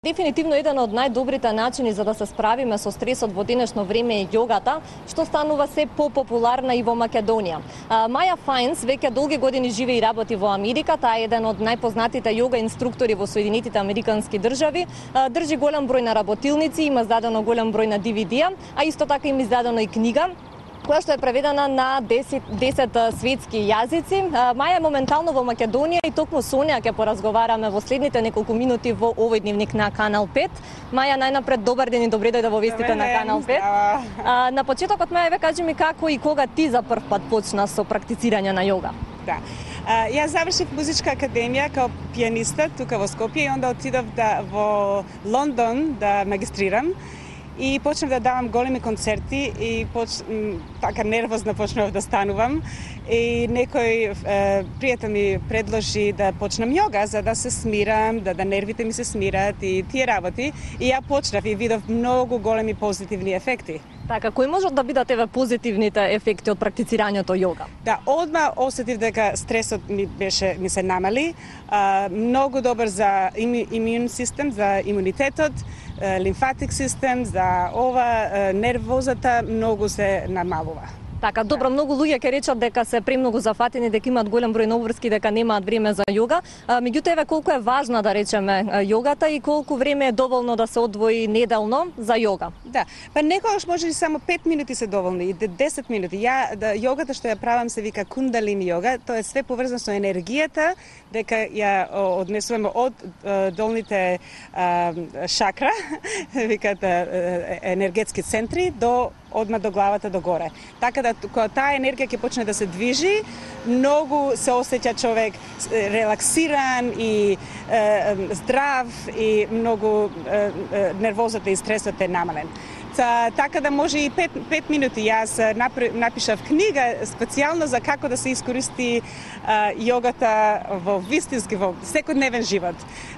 Дефинитивно еден од најдобрите начини за да се справиме со стресот во денешно време е јогата, што станува се попопуларна и во Македонија. Маја Фајнс веќе долги години живее и работи во Америка, таа е еден од најпознатите јога инструктори во Соединетите Американски држави, држи голем број на работилници, има издадено голем број на DVD-а, а исто така има издадено и книга која што е преведена на 10 светски јазици. Маја е моментално во Македонија и токму со неа ќе поразговараме во следните неколку минути во овој дневник на Канал 5. Маја, најнапред добар ден и добре дојде во вестите на Канал 5. На почетокот, Маја, кажи ми како и кога ти за прв пат почна со практицирање на јога? Да. Јас завршив музичка академија као пианиста тука во Скопје и онда отидов во Лондон да магистрирам. И почнав да давам големи концерти и така нервозна почнав да станувам. И некој пријател ми предложи да почнам јога за да се смирам, да нервите ми се смират и тие работи. И ја почнав и видов многу големи позитивни ефекти. Така, кои можат да бидат еве позитивните ефекти од практицирањето јога? Да, одма осетив дека стресот ми се намали, многу добар за имун систем, за имунитетот, лимфатик систем, за нервозата многу се намалува. Така, добро, многу луѓе ќе речат дека се премногу зафатени, дека имаат голем број на обврски, дека немаат време за јога. Меѓутоа, еве колку е важна, да речеме, јогата и колку време е доволно да се одвои неделно за јога? Да, па некогаш може и само 5 минути се доволни, и 10 минути. Јогата што ја правам се вика кундалини јога, тоа е све поврзано со енергијата, дека ја однесуваме од долните шакра, викаат енергетски центри, одма до главата до горе. Така да кога таа енергија ќе почне да се движи, многу се осеќа човек релаксиран и здрав и многу нервозата и стресот е намален. Така да може и 5 минути. Јас напишав книга специјално за како да се искористи јогата во вистински, во секојдневен живот.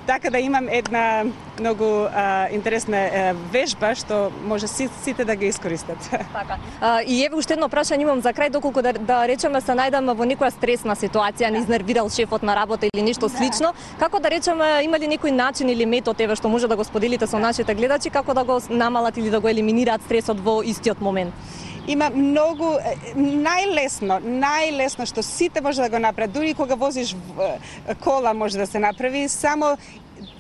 Така да имам една многу интересна вежба што може сите да ги искористат. Така. И еве уште едно прашање имам за крај, доколку да речеме се најдеме во некоја стресна ситуација, не изнервирал шефот на работа или нешто слично, како да речеме, има ли некој начин или метод еве што може да го споделите со нашите гледачи како да го намалат или да го елиминираат стресот во истиот момент? Има многу најлесно што сите може да го направат, дури кога возиш кола може да се направи, само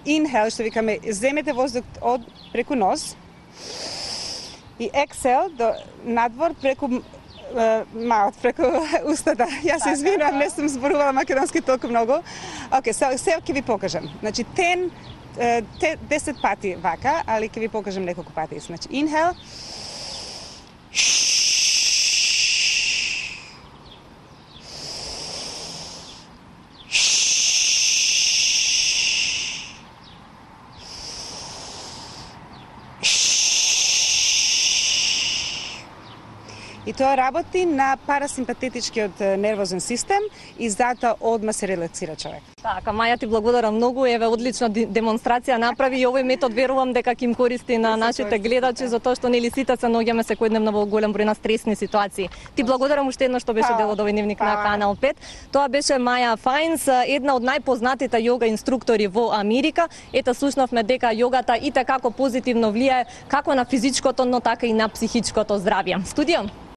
инхел, што викаме, земете воздух од преку нос и ексел до надвор преку маут, преку устата. Јас се извинувам, не сум зборувала македонски толку многу. Океј, се ќе ви покажам. Значи 10 пати вака, али ќе ви покажам неколку пати. Значи инхел. И тоа работи на парасимпатетичкиот нервозен систем и затоа одма се релаксира човек. Така, Маја, ти благодарам многу, еве одлична демонстрација направи и овој метод верувам дека ќе им користи на нашите гледачи, затоа што нели сите се наоѓаме секојдневно во голем број на стресни ситуации. Ти благодарам уште еднаш што беше дел од овој дневник на Канал 5. Тоа беше Маја Фајнс, една од најпознатите јога инструктори во Америка. Ете, слушнавме дека јогата и како позитивно влијае како на физичкото, но така и на психичкото здравје. Студио.